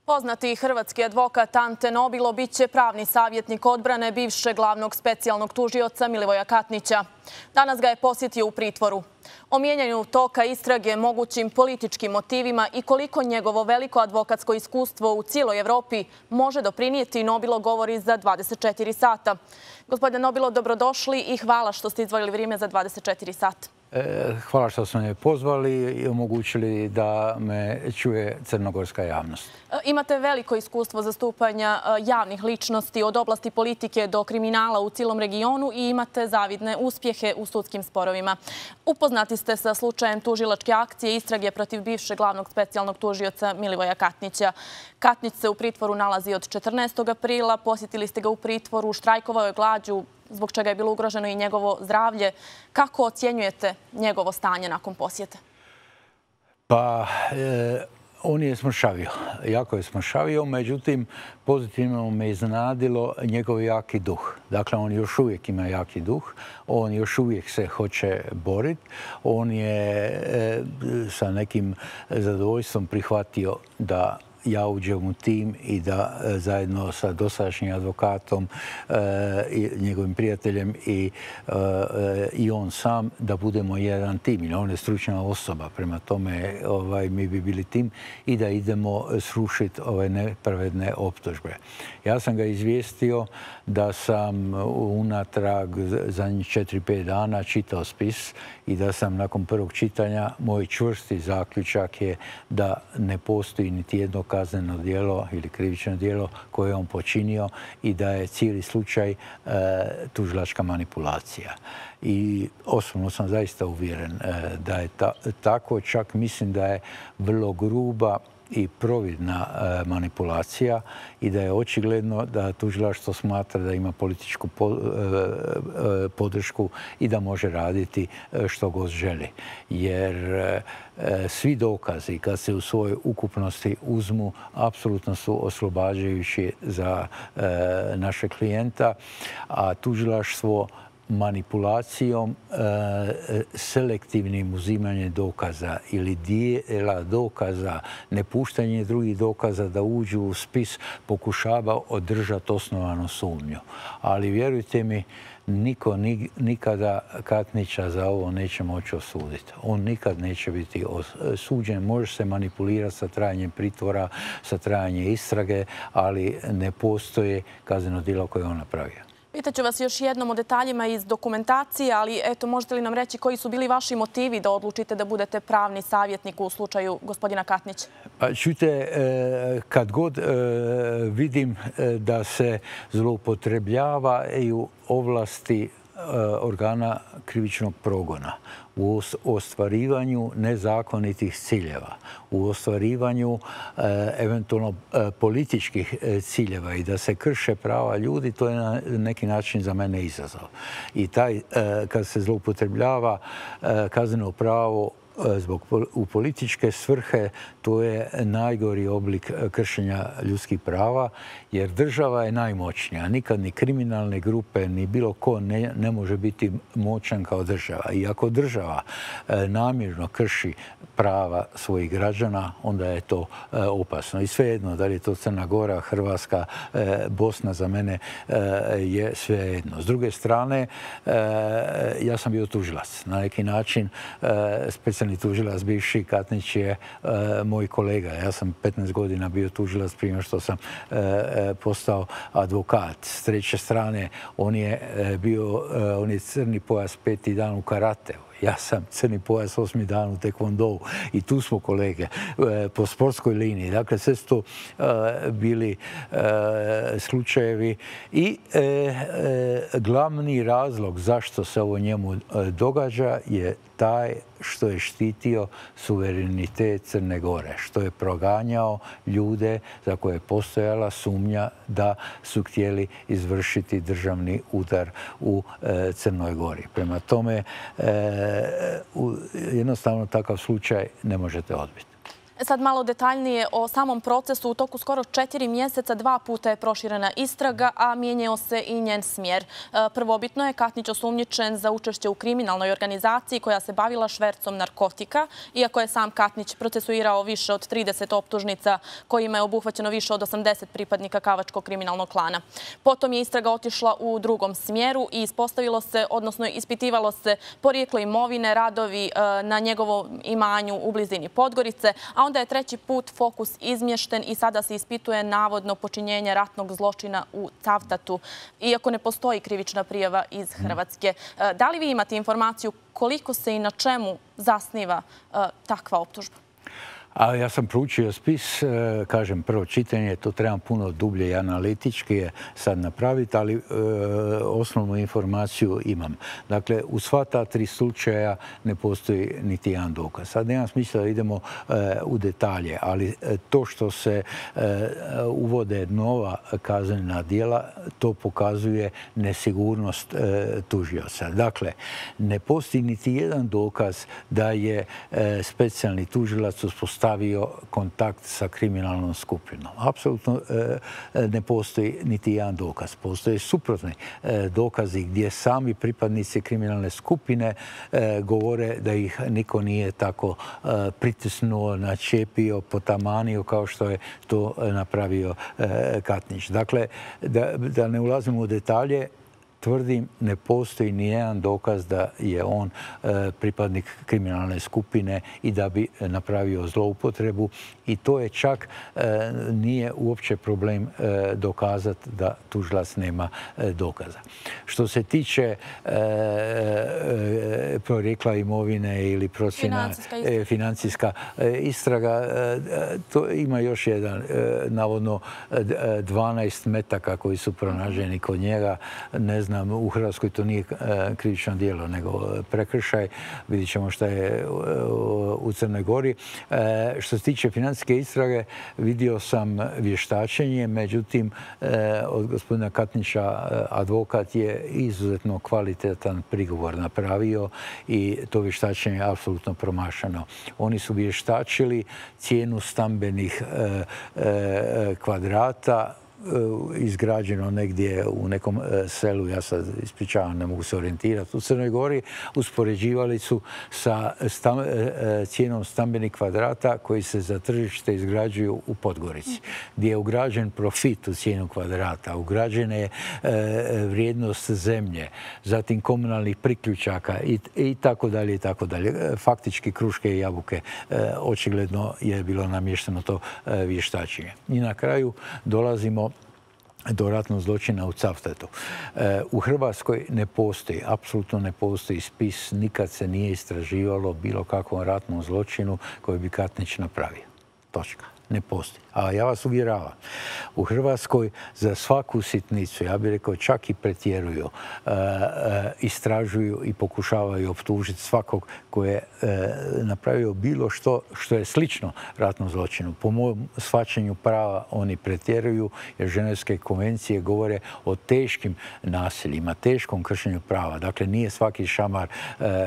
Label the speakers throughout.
Speaker 1: Poznati hrvatski advokat Ante Nobilo biće pravni savjetnik odbrane bivšeg glavnog specijalnog tužioca Milivoja Katnića. Danas ga je posjetio u pritvoru. O mijenjanju toka istrage, mogućim političkim motivima i koliko njegovo veliko advokatsko iskustvo u cijeloj Evropi može doprinijeti, Nobilo govori za 24 sata. Gospodine Nobilo, dobrodošli i hvala što ste izdvojili vrijeme za 24 sata.
Speaker 2: Hvala što ste me pozvali i omogućili da me čuje crnogorska javnost.
Speaker 1: Imate veliko iskustvo zastupanja javnih ličnosti od oblasti politike do kriminala u cijelom regionu i imate zavidne uspjehe u sudskim sporovima. Upoznati ste sa slučajem tužilačke akcije istrage protiv bivšeg glavnog specijalnog tužioca Milivoja Katnića. Katnić se u pritvoru nalazi od 14. aprila, posjetili ste ga u pritvoru, štrajkovao je glađu, zbog čega je bilo ugroženo i njegovo zdravlje. Kako ocjenjujete njegovo stanje nakon posjete?
Speaker 2: Pa, on je smršavio. Jako je smršavio, međutim, pozitivno me iznenadilo njegov jaki duh. Dakle, on još uvijek ima jaki duh, on još uvijek se hoće boriti, on je sa nekim zadovoljstvom prihvatio da ja uđem u tim i da zajedno sa dosadašnjim advokatom i njegovim prijateljem i on sam da budemo jedan tim. On je stručna osoba, prema tome mi bi bili tim i da idemo srušiti ove nepravedne optužbe. Ja sam ga izvijestio da sam unatrag zadnjih 4-5 dana čitao spis i da sam nakon prvog čitanja, moj čvrsti zaključak je da ne postoji niti jedno kazneno djelo ili krivično djelo koje je on počinio i da je cijeli slučaj tužilačka manipulacija. I osobno sam zaista uvjeren da je tako, čak mislim da je vrlo gruba i providna manipulacija i da je očigledno da tužilaštvo smatra da ima političku podršku i da može raditi što god želi. Jer svi dokazi kad se u svojoj ukupnosti uzmu apsolutno su oslobađajući za našeg klijenta, a tužilaštvo manipulacijom, selektivnim uzimanjem dokaza ili dijela dokaza, nepuštanje drugih dokaza da uđu u spis, pokušava održati osnovanu sumnju. Ali vjerujte mi, niko nikada Katnića za ovo neće moći osuditi. On nikad neće biti suđen. Može se manipulirati sa trajanjem pritvora, sa trajanjem istrage, ali ne postoje kazneno djelo koje je on napravio.
Speaker 1: Pitaću vas još jednom o detaljima iz dokumentacije, ali eto, možete li nam reći koji su bili vaši motivi da odlučite da budete pravni savjetnik u slučaju gospodina Katnića?
Speaker 2: Pa čujte, kad god vidim da se zloupotrebljavaju ovlasti organa krivičnog progona u ostvarivanju nezakonitih ciljeva, u ostvarivanju eventualno političkih ciljeva i da se krše prava ljudi, to je na neki način za mene izazov. I kad se zloupotrebljava kazneno pravo u političke svrhe, to je najgori oblik kršenja ljudskih prava, jer država je najmoćnija. Nikad ni kriminalne grupe, ni bilo ko ne može biti moćan kao država. I ako država namjerno krši prava svojih građana, onda je to opasno. I svejedno, da li je to Crna Gora, Hrvatska, Bosna, za mene je svejedno. S druge strane, ja sam bio tužilac. Na neki način, specijalni tužilac bivši Katnić je moj kolega. Ja sam 15 godina bio tužilac prije što sam postao advokat. S treće strane, on je crni pojas 5. dan u karateu. Ja sam crni pojas 8. dan u tekvondou i tu smo kolege po sportskoj liniji. Dakle, sve su to bili slučajevi i glavni razlog zašto se ovo njemu događa je taj što je štitio suverenitet Crne Gore, što je proganjao ljude za koje je postojala sumnja da su htjeli izvršiti državni udar u Crnoj Gori. Prema tome, jednostavno takav slučaj ne možete odbiti.
Speaker 1: Sad malo detaljnije o samom procesu. U toku skoro 4 mjeseca 2 puta je proširena istraga, a mijenjao se i njen smjer. Prvobitno je Katnić osumnjičen za učešće u kriminalnoj organizaciji koja se bavila švercom narkotika, iako je sam Katnić procesuirao više od 30 optužnica kojima je obuhvaćeno više od 80 pripadnika Kavačkog kriminalnog klana. Potom je istraga otišla u drugom smjeru i ispostavilo se, odnosno ispitivalo se porijeklo imovine, radovi na njegovom imanju u blizini Podgorice, a onda je treći put fokus izmješten i sada se ispituje navodno počinjenje ratnog zločina u Cavtatu, iako ne postoji krivična prijava iz Hrvatske. Da li vi imate informaciju koliko se i na čemu zasniva takva optužba?
Speaker 2: A ja sam proučio spis, kažem, prvo čitanje, to trebam puno dublje i analitički je sad napraviti, ali osnovnu informaciju imam. Dakle, u sva ta 3 slučaja ne postoji niti jedan dokaz. Sad nema smisla da idemo u detalje, ali to što se uvode nova kaznena djela, to pokazuje nesigurnost tužioca. Dakle, ne postoji niti jedan dokaz da je specijalni tužilac uspostavio kontakt sa kriminalnom skupinom. Apsolutno ne postoji niti jedan dokaz. Postoje suprotni dokazi gdje sami pripadnici kriminalne skupine govore da ih niko nije tako pritisnuo, načepio, potamanio kao što je to napravio Katnić. Dakle, da ne ulazimo u detalje, tvrdim, ne postoji ni jedan dokaz da je on pripadnik kriminalne skupine i da bi napravio zloupotrebu. I to je čak nije uopće problem dokazati da tužilac nema dokaza. Što se tiče porijekla imovine ili procjena financijska istraga, to ima još jedan, navodno 12 metaka koji su pronađeni kod njega. Ne znam, u Hrvatskoj to nije krivično djelo, nego prekršaj. Vidjet ćemo šta je u Crnoj Gori. Što se tiče financijske istrage, vidio sam vještačenje, međutim, od gospodina Katnića advokat je izuzetno kvalitetan prigovor napravio i to vještačenje je apsolutno promašeno. Oni su vještačili cijenu stambenih kvadrata, izgrađeno negdje u nekom selu, ja sad ispričavam, ne mogu se orijentirati, u Crnoj Gori, uspoređivali su sa cijenom stambenih kvadrata koji se za tržište izgrađuju u Podgorici, gdje je ugrađen profit u cijenu kvadrata, ugrađena je vrijednost zemlje, zatim komunalnih priključaka i tako dalje i tako dalje. Faktički kruške i jabuke, očigledno je bilo namješteno to vještačenje. I na kraju dolazimo do ratnog zločina u Cavtatu. U Hrvatskoj ne postoji, apsolutno ne postoji spis, nikad se nije istraživalo bilo kakvom ratnom zločinu koji bi Katnić napravio. Točka. Ne postoji. A ja vas uvjeravam, u Hrvatskoj za svaku sitnicu, ja bih rekao čak i pretjeruju, istražuju i pokušavaju optužiti svakog koji je napravio bilo što je slično ratnom zločinu. Po mom shvaćanju prava oni pretjeruju jer Ženevske konvencije govore o teškim nasiljima, teškom kršenju prava. Dakle, nije svaki šamar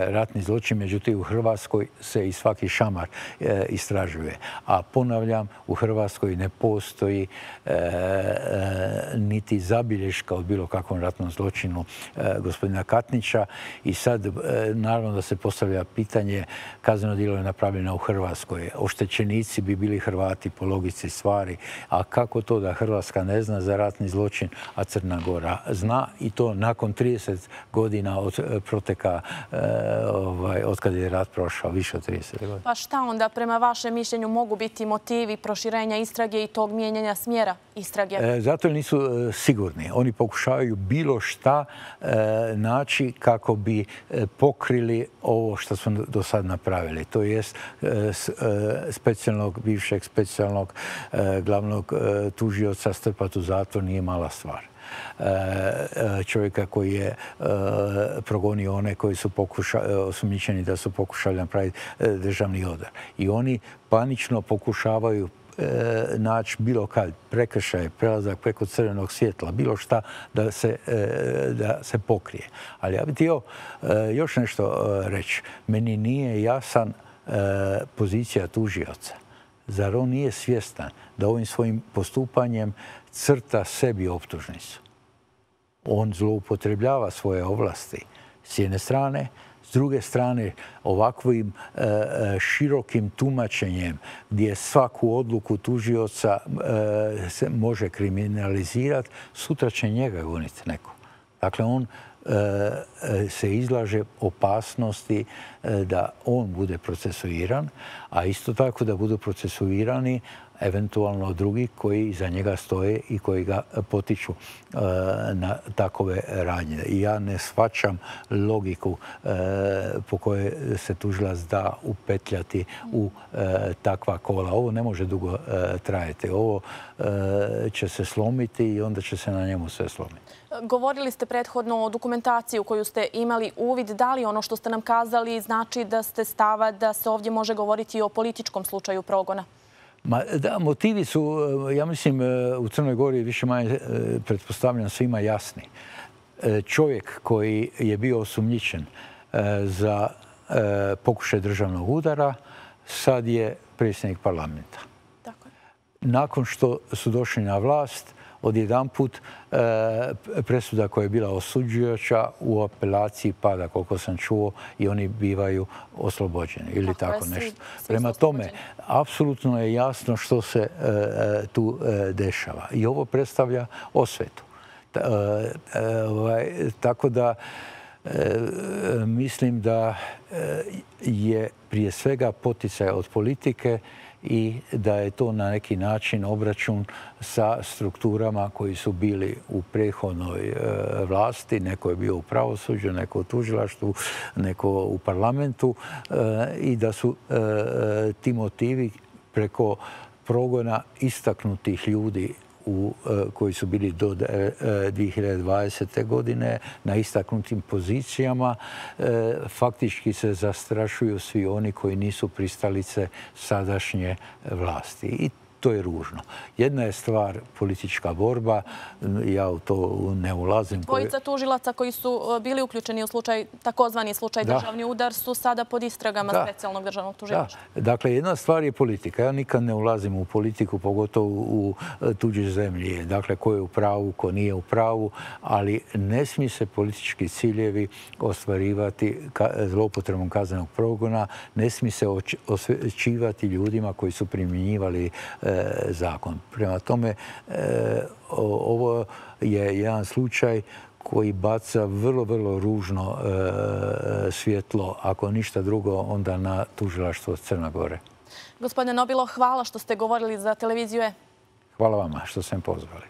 Speaker 2: ratni zločin, međutim u Hrvatskoj se i svaki šamar istražuje. A ponavljam, u Hrvatskoj ne postoji niti zabilješka od bilo kakvom ratnom zločinu gospodina Katnića. I sad, naravno da se postavlja pitanje, kazneno djelo je napravljeno u Hrvatskoj. Oštećenici bi bili Hrvati po logici stvari. A kako to da Hrvatska ne zna za ratni zločin, a Crna Gora zna, i to nakon 30 godina od proteka, od kada je rat prošao, više od 30 godina.
Speaker 1: Pa šta onda prema vašem mišljenju mogu biti motivi proširenja istrage i tog mijenjanja smjera istrage?
Speaker 2: Zato nisu sigurni. Oni pokušavaju bilo šta naći kako bi pokrili ovo što smo do sad napravili. To jest bivšeg specijalnog glavnog tužioca strpati u zatvor nije mala stvar. Čovjeka koji je progonio one koji su osumnjičeni da su pokušali napraviti državni udar. I oni panično pokušavaju naći bilo kad prekršaj, prelazak preko crvenog svjetla, bilo šta da se pokrije. Ali ja bih htio još nešto reći. Meni nije jasan pozicija tužioca. Zar on nije svjestan da ovim svojim postupanjem crta sebi optužnicu? On zloupotrebljava svoje ovlasti s jedne strane, s druge strane ovakvim širokim tumačenjem gdje svaku odluku tužioca se može kriminalizirati, sutra će njega goniti neko. Dakle, on se izlaže opasnosti da on bude procesuiran, a isto tako da budu procesuirani eventualno drugi koji iza njega stoje i koji ga potiču na takove radnje. I ja ne shvaćam logiku po kojoj se tužilac da upetljati u takva kola. Ovo ne može dugo trajati. Ovo će se slomiti i onda će se na njemu sve slomiti.
Speaker 1: Govorili ste prethodno o dokumentaciji u koju ste imali uvid. Da li ono što ste nam kazali znači da ste stava da se ovdje može govoriti o političkom slučaju progona?
Speaker 2: Da, motivi su, ja mislim, u Crnoj Gori više manje pretpostavljam svima jasni. Čovjek koji je bio osumnjičen za pokušaj državnog udara sad je predsjednik parlamenta.
Speaker 1: Tako je.
Speaker 2: Nakon što su došli na vlast, odjedanput presuda koja je bila osuđujuća u apelaciji pada, koliko sam čuo, i oni bivaju oslobođeni ili tako nešto. Prema tome, apsolutno je jasno što se tu dešava. I ovo predstavlja osvetu. Tako da mislim da je prije svega poticaj od politike i da je to na neki način obračun sa strukturama koji su bili u prethodnoj vlasti. Neko je bio u pravosuđu, neko u tužilaštvu, neko u parlamentu i da su ti motivi preko progona istaknutih ljudi koji su bili do 2020. godine na istaknutim pozicijama, faktički se zastrašuju svi oni koji nisu pristalice sadašnje vlasti. I to je ružno. Jedna je stvar politička borba, ja u to ne ulazim.
Speaker 1: Dvojica tužilaca koji su bili uključeni u takozvani slučaj državni udar su sada pod istragama specijalnog državnog tužilaštva.
Speaker 2: Dakle, jedna stvar je politika. Ja nikad ne ulazim u politiku, pogotovo u tuđe zemlje. Dakle, ko je u pravu, ko nije u pravu, ali ne smije se politički ciljevi ostvarivati zloupotrebom kaznenog progona, ne smije se osvećivati ljudima koji su primjenjivali zakon. Prema tome, ovo je jedan slučaj koji baca vrlo, vrlo ružno svjetlo, ako ništa drugo, onda na tužilaštvo Crne Gore.
Speaker 1: Gospodine Nobilo, hvala što ste govorili za televiziju E.
Speaker 2: Hvala vama što ste me pozvali.